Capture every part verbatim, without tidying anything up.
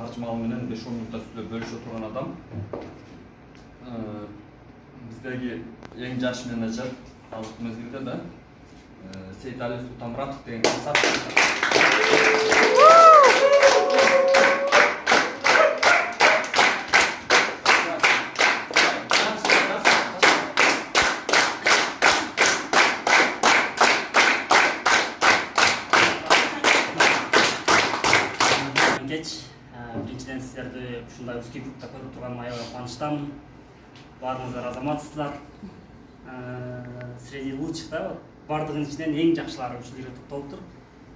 таржымалы менен беш он мүнөттө сүйлөп бөлүшө турган адам. Биздеги эң жаш менеджер азыркы мезгилде да Сейитали Султанмуратов деген касап. Биринчиден сиздерди ушундай узкий группта көрүп турганыма аябай кубанычтамын. Баарыңыздар азаматсыздар. Среди лучших да, бардыгынын ичинен эң жакшылары ушул жерге топтолуптур.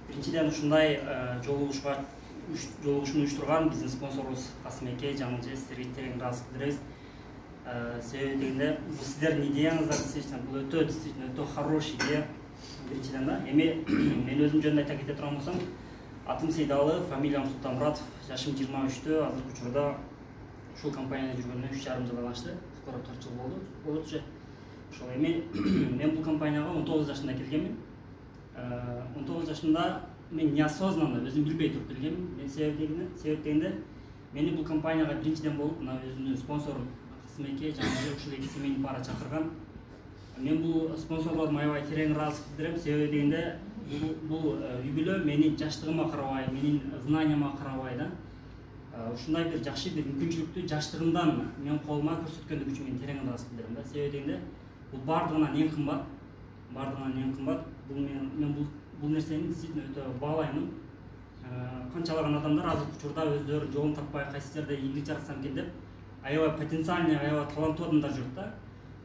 Биринчиден ушундай жолугушууга жолугушууну уюштурган биздин спонсорубуз Касым эке, Жаңыл эже, сиздерге терең ыраазычылык билдиребиз. Себеби дегенде бул сиздердин идеяңыздар действительно бул өтө действительно өтө хороший идея. Биринчиден да, эми мен өзүм жөнүндө айта кете турган болсом, атым Сейдалы, фамилиям Султанмуратов, жашым жыйырма үчтө, азыркы учурда ушул компанияда жүргөнүмө үч жарым жылдан ашты. Скоро төрт жыл болду. Болот уже. Ошол эми мен бул компанияга он тогуз жашында келгенмин. он тогуз жашымда мен неосознанно өзүм билбей туруп келгенмин. Мен себеби себеп дегенде мени бул компанияга биринчиден болуп мына өзүмдүн спонсорум Касым эке, Жаңыл ушул эки семейни пара чакырган. Мен бул спонсорлордума аябай терең ыраазычылык билдирем. Себеби дегенде бул үй бүлө менин жаштыгыма карабай, менин знанияма карабай да, ушундай бир жакшы бир мүмкүнчүлүктү жаштыгымдан мен колума көрсөткөндүгү үчүн мен терең ыраазычылык билдирем да. Себеби дегенде бул бардыгынан эң кымбат, бардыгынан эң кымбат. Бул мен мен бул бул нерсени действительно өтө баалаймын. Канчалаган адамдар азыркы учурда өздөрү жолун таппай кайсы жерде ийгилик жаратсам экен деп аябай потенциальный, аябай таланттуу адамдар жүрөт да.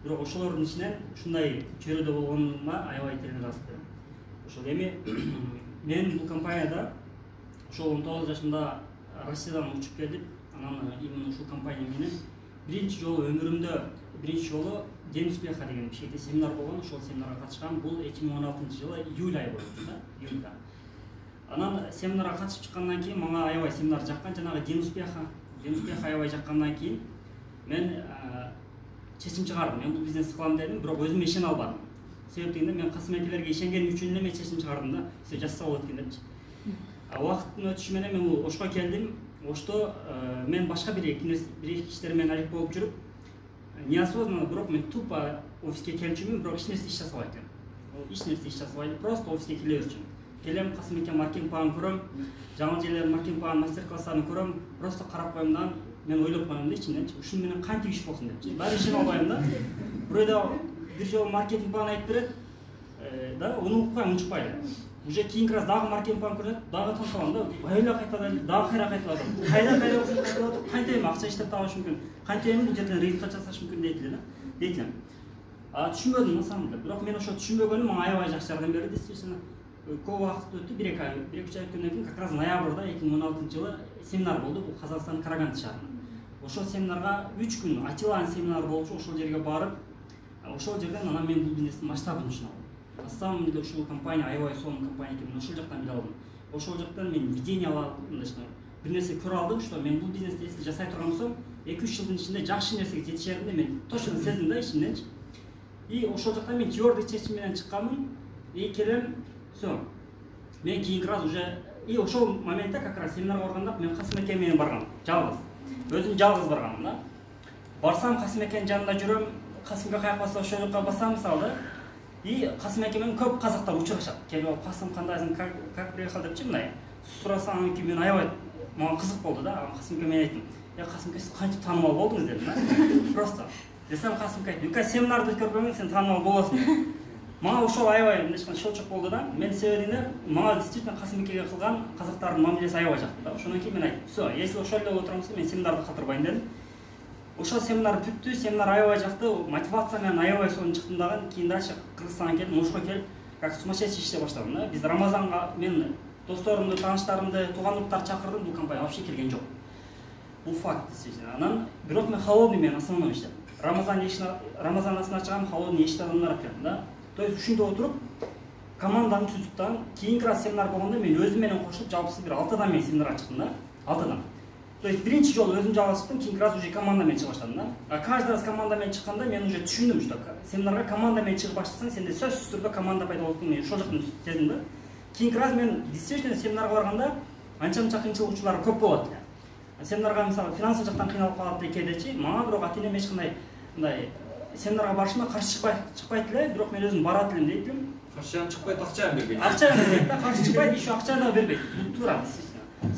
Бирок ошолордун ичинен ушундай чөйрөдө болгонума аябай терең ыраазычылык билдирем. Ошол эми мен бул компанияда ошол он тогуз жашымда Россиядан учуп келип, анан именно ушул компания менен биринчи жолу өмүрүмдө биринчи жолу День успеха деген бишкекте семинар болгон, ошол семинарга катышкам. Бул эки миң он алтынчы жылы июль айы болчу да, июльда. Анан семинарга катышып чыккандан кийин мага аябай семинар жаккан, жанагы День успеха, День успеха аябай жаккандан кийин мен чечим чыгардым. Мен бул бизнес кылам дедим, бирок өзүм ишене албадым. Себеп дегенде мен Касым экелерге ишенгеним үчүн эле мен чечим чыгардым да, все жасаса болот экен депчи. Убакыттын өтүшү менен мен Ошко келдим. Ошто мен башка бир эки бир иштер менен алек болуп жүрүп, неосознанно, бирок мен тупо офиске келчүмүн, бирок эч нерсе иш жасабайт элем. Эч нерсе иш жасабайт, просто офиске келе берчүмүн. Келем, Касым эке маркетинг планын көрөм, Жаңыл эжелер маркетинг планын мастер-класстарын көрөм, просто карап коем да, мен ойлоп коем да ичимден, ушун менен кантип иш болсун депчи. Баары ишене албайм да. Бирөөдө бир жолу маркетинг план айтып берет, да, уну укпайм, унчукпай эле. Уже кийинки раз дагы маркетинг план көрөт, дагы таң калам да, айла кайталайт, дагы кайра кайталат. Кайда кайра кайталат, кантип эми акча иштеп табыш мүмкүн, кантип эми бул жерден рейдка часаш мүмкүн дейт эле да. Дейт элем. А түшүнбөдүм на самом деле. Бирок мен ошо түшүнбөгөнүм мага аябай жакшы жардам берди, действительно. Көп убакыт өттү, бир эки ай, бир эки ай өткөндөн кийин как раз ноябрда эки миң он алтынчы жылы семинар болду, бул Казакстандын Караганды шаарында. Ошол семинарга үч күн Атиланын семинары болчу, ошол жерге барып, ошол жерден анан мен бул бизнестин масштабын түшүнүп алдым. На самом деле ушул компания аябай сонун компания экенин ошол жактан биле алдым. Ошол жактан мен видение алдым, мындайча бир нерсе көрө алдым, что мен бул бизнести если жасай турган болсом, эки үч жылдын ичинде жакшы нерсеге жетишеримди мен точно сездим да ичимденчи. И ошол жактан мен твердый чечим менен чыкканмын. И келем, всё. Мен кийинки раз уже и ошол моментте как раз семинарга барганда мен Касым эке менен баргам, жалгыз. Өзүм жалгыз барганмын да. Барсам Касым экенин жанында жүрөм, Касымга каяк басса ошол жака басам мисалы да. И Касым эке менен көп казактар учурашат. Келип, Касым кандайсың, как как приехал депчи мындай. Сурасам эки мен аябай мага кызык болду да. Касым эке мен айттым. Я Касым эке сиз кантип таанымал болдуңуз дедим да. Просто. Десем Касым эке, "Үка семинарды көрбөйүн, сен таанымал болосуң." Мага ошол аябай мындайча шочок болду да. Мен себебинде мага действительно Касым экеге кылган казактардын мамилеси аябай жакты да. Ошондон кийин мен айттым, "Всё, если ошол эле боло турган болсо, мен семинарды калтырбайм" дедим. Ошол семинар бүттү, семинар аябай жакты, мотивация менен аябай сонун чыктым дагы. Кийин дальше Кыргызстанга келдим, Ошко келип, как сумасшедший иштей баштадым да. Биз Рамазанга мен досторумду, тааныштарымды, туугандыктарды чакырдым, бул компания вообще келген жок. Бул факт действительно. Анан бирок мен холодный мен основной иштедим. Рамазан ишин Рамазан асын ачкан холодный иште адамдар келдим да. То есть ушунда отуруп команданы түзүп, кийинки раз семинар болгондо мен өзүм менен кошулуп жалпысы бир алты адам менен семинарга чыктым да. алты адам. То есть биринчи жолу өзүм жалгыз чыктым, кийинки раз уже команда менен чыга баштадым да. А каждый раз команда менен чыкканда мен уже түшүндүм, что семинарга команда менен чыгып баштасаң, сенде сөзсүз түрдө команда пайда болот, мен ошол жактан сездим да. Кийинки раз мен действительно семинарга барганда анча-мынча кыйынчылык учурлары көп болот. семинарга мисалы финансылык жактан кыйналып калат кээдечи, мага бирок ата энем эч кандай мындай семинарга барышыма каршы чыкпай чыкпайт эле, бирок мен өзүм барат элем дейт элем. Каршы жан чыкпайт, акча да бербейт. Акча да бербейт да, каршы чыкпайт, еще акча да бербейт. Бул туура.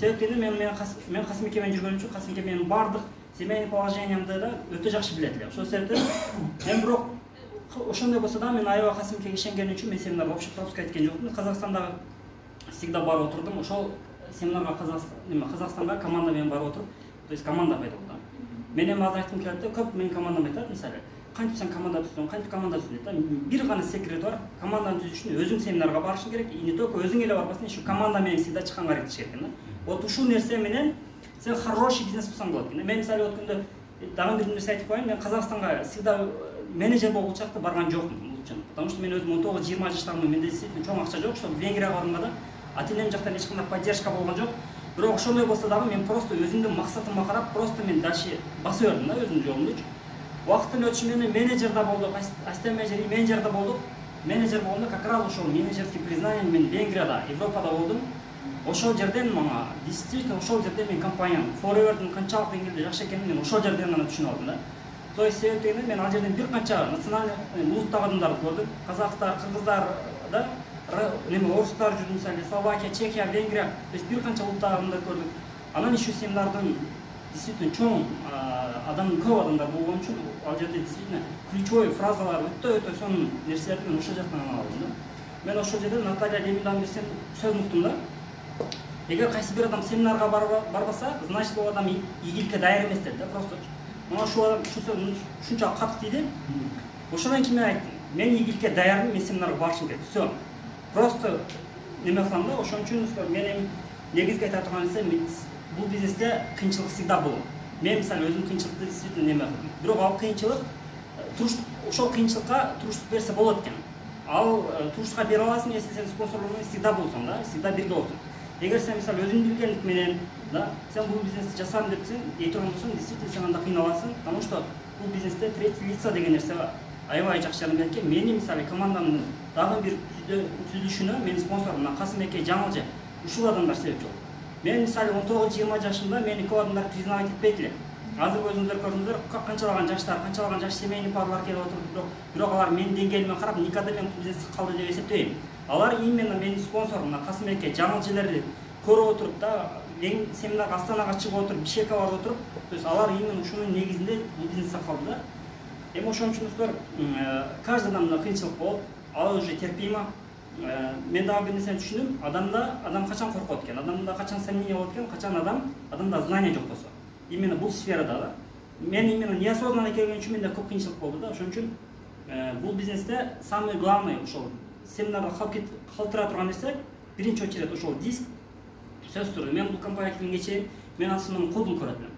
Себептен мен мен мен Касымбек менен жүргөнүм үчүн Касымбек менин бардык семейный положениямды да өтө жакшы билет эле. Ошол себептен мен бирок ошондой болсо да мен аябай Касымбекке ишенгени үчүн мен семинарга вообще пропуск эткен жокмун. Казакстандагы всегда барып отурдум. Ошол семинарга Казакстан, неме Казакстанга команда менен барып отуруп, то есть команда пайда болду. Мен эми азыр айткым келет да, көп менин командам айтат, мисалы, кантип сен команда түзсөң, кантип команда түз дейт да. Бир гана секрет бар. Команданы түзүш үчүн өзүң семинарга барышың керек. И не только өзүң эле барбастан, еще команда менен всегда чыкканга аракет экен да. Вот ушул нерсе менен сен хороший бизнес кылсаң болот экен. Мен мисалы өткөндө дагы бир нерсе айтып коеюн, мен Казакстанга всегда менеджер болуп чакта барган жокмун бул үчүн. Потому что мен өзүм он тогуз жыйырма жаштагымын, менде действительно чоң акча жок, чтобы Венгрияга барганга да ата энем жактан эч кандай поддержка болгон жок. Бирок ошондой болсо дагы мен просто өзүмдүн максатыма карап просто мен дальше баса бердим да өзүмдүн жолумду. Убакыттын өтүшү менен менеджер да болдук, ассистент менеджер, менеджер да болдук. Менеджер болгондо как раз ошол менеджерский признание мен Венгрияда, Европада болдум. Ошол жерден мага действительно ошол жерден мен компаниянын Forever'дын канчалык деңгээлде жакшы экенин мен ошол жерден гана түшүнүп алдым да. То есть себептен мен ал жерден бир канча национальный улуттагы адамдарды көрдүм. Казактар, кыргыздар да, неме орустар жүрдү, мисалы Словакия, Чехия, Венгрия, то есть бир канча улуттагы адамдарды көрдүм. Анан еще семинардын действительно чоң адам көп адамдар болгон үчүн ал жерде действительно ключевой фразалар өтө өтө сонун нерселерди мен ошол жактан алдым да. Мен ошол жерде Наталья Лемидан бир сөз уктум да. Эгер кайсы бир адам семинарга барбаса, значит ал адам ийгиликке даяр эмес деп да, просто. Мына ушул адам ушунчалык катык тийди. Ошондон кийин мен айттым, мен ийгиликке даярмын, мен семинарга барышым керек. Всё. Просто неме кылам да, ошон үчүн менин негизги айта турган нерсе, бул бизнесте кыйынчылык всегда болот. Мен мисалы өзүм кыйынчылыкты действительно неме кылдым. Бирок ал кыйынчылык туруштук, ошол кыйынчылыкка туруштук берсе болот экен. Ал туруштукка бере аласың, если сен спонсорлордон всегда болсоң да, всегда бирге болсоң. Эгер сен мисалы өзүң билгендик менен, да, сен бул бизнести жасадым деп сен эй турган болсоң, действительно сен анда кыйналасың, потому что бул бизнесте третий лица деген нерсе аябай жакшы жагы экен. Мени мисалы командамдын дагы бир түзүлүшүнө менин спонсорум мына Касымбек Жаңылжы ушул адамдар себепчи болду. Мен мисалы он тогуз жыйырма жашымда мени көп адамдар признавать этпейт эле. Азыр өзүңүздөр көрдүңүздөр, канчалаган жаштар, канчалаган жаш семейный парлар келип отуруп, бирок алар менин деңгээлиме карап никогда мен бизнести калды деп эсептебейм. Алар именно менин спонсорум мына Касымбек Жаңылжыларды көрүп отуруп да, эң семинарга Астанага чыгып отуруп, Бишкекке барып отуруп, то есть алар именно ушунун негизинде бизнесте калды да. Эми ошон үчүн каждый адамда кыйынчылык болот, ал уже терпимо. Мен дагы бир нерсени түшүндүм, адамда адам качан коркот экен, адамда качан сомнение болот экен, качан адам адамда знание жок болсо. Именно бул сферада да. Мен именно неосознанно келген үчүн менде көп кыйынчылык болду да. Ошон үчүн бул бизнесте самый главный ошол семинарда калтыра турган нерсе биринчи очередь ошол диск. Сөз турду. Мен бул компанияга киргенче мен асылым кодун көрөт элем.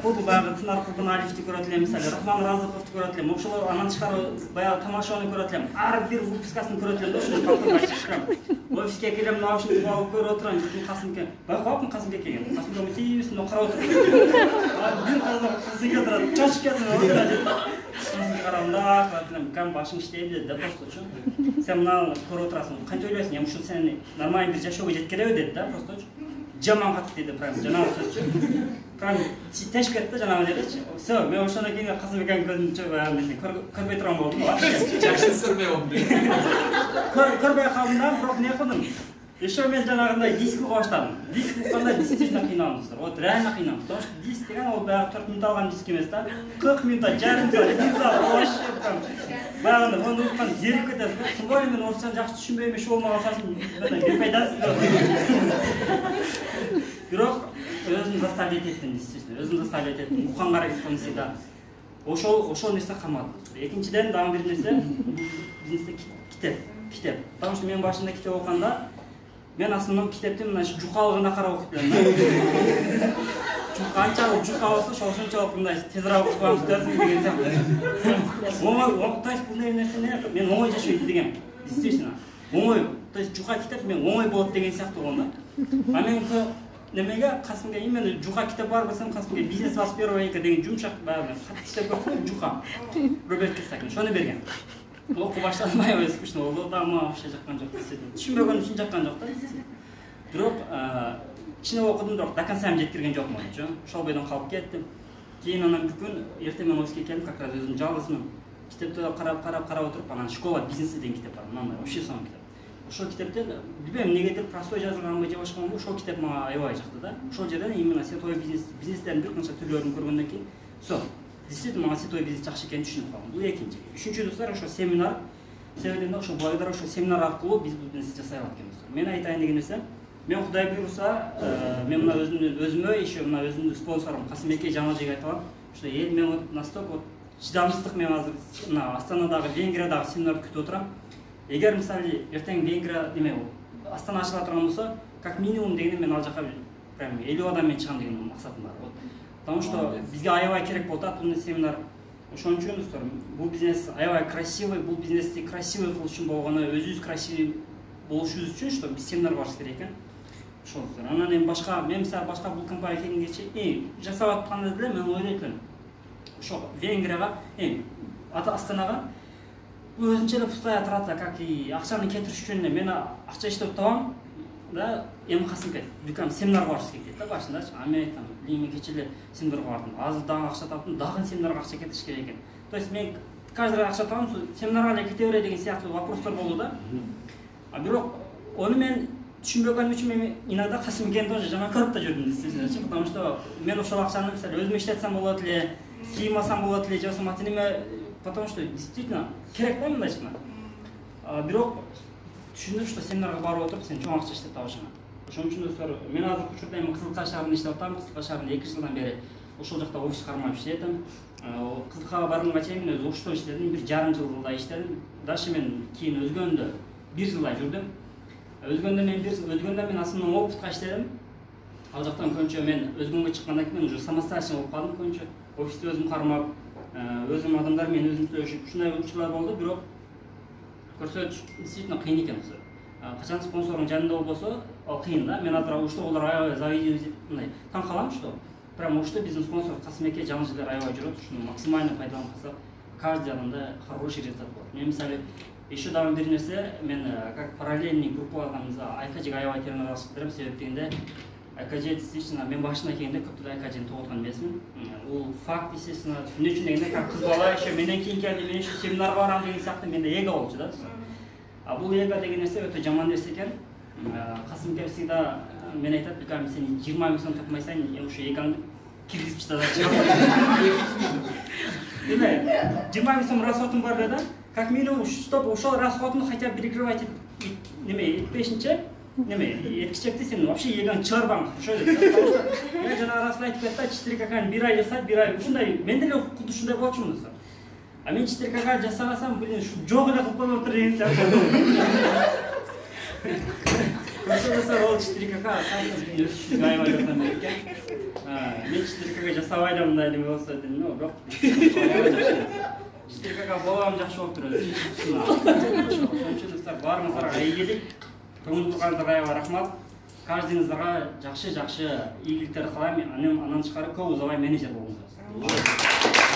Коду баягы Тынар Курбан Алифти көрөт элем, мисалы Рахман Разыковду көрөт элем. Ошолор анан тышкары баягы тамашаны көрөт элем. Ар бир выпускасын көрөт элем да, ошол калтырбай чыгышкан. Офиске келем, наушник алып көрүп отурам, бүтүн Касымбек. Байкапмын Касымбек келген. Касымбек тийбесин карап отуруп. Бир казак Касымбек турат, чачып кетти отура деп. Касымбек караганда, калтырам, кам башың иштейби деп просто чу. Сен мына көрүп отурасың, кантип ойлойсуң? Эми ушул сени нормальный бир жашоого жеткилеби деди да, просто. Жаман катык деди прям, жанагы сөзчү. Прям теш кетти жанагы жердечи. Всё, мен ошондон кийин Касымбектин көзүн чөбө көрбөй турган болдум. Жакшы көрбөй болдум. Көрбөй калдым да, бирок не кылдым? Еще мен жанагындай диск уга баштадым. Диск укканда действительно кыйналдым. Вот реально кыйналдым. Потому что диск деген ал баягы төрт мүнөт алган диск эмес да. кырк мүнөт, жарым саат, бир саат вообще прям. Баягы мону уккан зерип кетесиз. Тыңбай мен орусчаны жакшы түшүнбөйм, иши болмаган соң бир пайдасы жок. Бирок өзүм заставить эттим, действительно. Өзүм заставить эттим. Укканга аракет кылдым всегда. Ошол ошол нерсе камады. Экинчиден дагы бир нерсе бизнесте китеп, китеп. Потому что мен башында китеп окуганда мен асылым китепти мына жукалыгына карап окуп элем да. Канчалык жука болсо, ошончолук мындай тезирээк окуган күтөсүң деген сыяктуу. Оңой, то есть бул нерсени мен оңой жашоо издегем. Действительно. Оңой, то есть жука китеп мен оңой болот деген сыяктуу болгон да. А мен немеге Касымга именно жука китеп бар болсом, Касымга бизнес двадцать первого века деген жумшак баягы катты китеп көрсөм, жука. Роберт Кийосаки, шону берген. Окуп баштадым, аябай скучно болду, да, мага вообще жаккан жок. Түшүнбөгөн үчүн жаккан жок да. Бирок кичине окудум, бирок до конца жеткирген жокмун очо. Ошол бойдон калып кеттим. Кийин анан бир күн эртең менен офиске келдим, как раз өзүм жалгызмын. Китепти карап карап карап отуруп, анан школа бизнеси деген китеп бар. Мындай вообще сонун китеп. Ошол китептен билбейм эмнегедир простой жазылганбы же башкамбы, ошол китеп мага аябай жакты да. Ошол жерден именно сетовой бизнес, бизнестердин бир канча түрлөрүн көргөндөн кийин, всё. Действительно мага сетовой бизнес жакшы экенин түшүнүп калдым. Бул экинчи. Үчүнчү достор, ошо семинар. Себебинде ошо благодаря ошо семинар аркылуу биз бул бизнести жасай алат экенбиз. Мен айтайын деген нерсе, мен Кудай буйруса, мен мына өзүмдүн өзүмө, еще мына өзүмдүн спонсорум Касымбекке Жаңылжыга айталам. Что эл мен вот настолько вот чыдамсыздык, мен азыр мына Астанадагы, Венгриядагы семинарды күтүп отурам. Эгер мисалы эртең Венгрия деме Астана ачыла турган болсо, как минимум дегенде мен ал жака прям элүү адам менен чыгам деген максатым бар. Вот. Потому что бизге аябай керек болуп атат бул семинар. Ошон үчүн достор, бул бизнес аябай красивый, бул бизнести красивый кылыш үчүн болгону, өзүбүз красивый болушубуз үчүн, что биз семинар барышыбыз керек экен. Ошол достор. Анан эми башка, мен мисалы башка бул компания келгенге чейин жасап атканда деле мен ойлойт элем. Ошо Венгрияга, эми Астанага өзүнчө эле пустая трата, как и акчаны кетириш үчүн мен акча иштеп табам, да, эми Касымбек бүкөм семинарга барышыбыз керек дейт да башындачы. А мен айтам, мен кече эле семинарга бардым, азыр дагы акча таптым, дагы семинарга акча кетириш керек экен. То есть мен каждый раз акча табам, семинарга эле кете бере деген сыяктуу вопростор болду да. А бирок ону мен түшүнбөгөнүм үчүн мен иногда Касымбекти тоже жаман көрүп да жүрдүм действительно, потому что мен ошол акчаны мисалы өзүм иштетсем болот эле, кийим алсам болот эле, же болбосо матиниме, потому что действительно керек да мындайча. Бирок түшүндүм, что семинарга барып отуруп сен чоң акча иштеп табышыңа. Ошон үчүн достор, мен азыр учурда эми Кызылка шаарында иштеп атам. Кызылка шаарында эки жылдан бери ошол жакта офис кармап иштетем. Кызылкага барганга чейин мен өзү Ошто иштедим, бир жарым жылдай иштедим. Дальше мен кийин өзгөндө бир жылдай жүрдүм. Өзгөндө мен бир өзгөндө мен асылы опытка иштедим. Ал жактан көбүнчө мен өзгөнгө чыккандан кийин мен уже самостоятельно болуп калдым көбүнчө. Офисти өзүм кармап, өзүм адамдар менен өзүм сүйлөшүп, ушундай учурлар болду, бирок көрсөтүш действительно кыйын экен. Качан спонсордун жанында болбосо, ал кыйын да. Мен азыр ушто болор аябай завидую, мындай таң калам, что прям ушто биздин спонсор Касымбекке Жаңылжылар аябай жүрөт, ушуну максимально пайдаланып калсак, каждый адамда хороший результат болот. Мен мисалы еще дагы бир нерсе, мен как параллельный группалардан Айкажиге аябай терминалдашып берем, себеп дегенде Айкажи действительно мен башына келгенде көптү Айкажини тоготкон эмесмин. Бул факт, естественно, эмне үчүн дегенде, как кыз бала еще менен кийин келди, мен еще семинарга барам деген сыяктуу менде эго болчу да. А бул эго деген нерсе өтө жаман нерсе экен. Касымбек всегда мен айтат, бикам сен жыйырма миң сом тапмайсаң, ошо эгоңду киргизип чыгат. Деме, жыйырма миң сом расходум бар да, как минимум чтобы ошол расходун хотя бы перекрывать неме этпешинче, неме эткичекти сен вообще эгоң чыгарбаң. Ошо деп. Мен жана расыл айтып кетти, четыре ка бир ай жасап, бир ай ушундай, мен деле кудду ушундай болчумун да. А мен четыре ка жасагасам, блин, жок эле кылып коюп отур деген сыяктуу. Ошол ол четыре ка кайсы өсүшүгө аябай жардам берет экен. Мен четыре ка жасабай эле мындай неме болсо дедим, но бирок четыре ка болам жакшы болуп турат. Ошон үчүн достор, баарыңыздарга ийгилик, көңүл бургандарга аябай рахмат. Каждыйыңыздарга жакшы-жакшы ийгиликтер кылам. Анан тышкары көп узабай менеджер болуңуздар.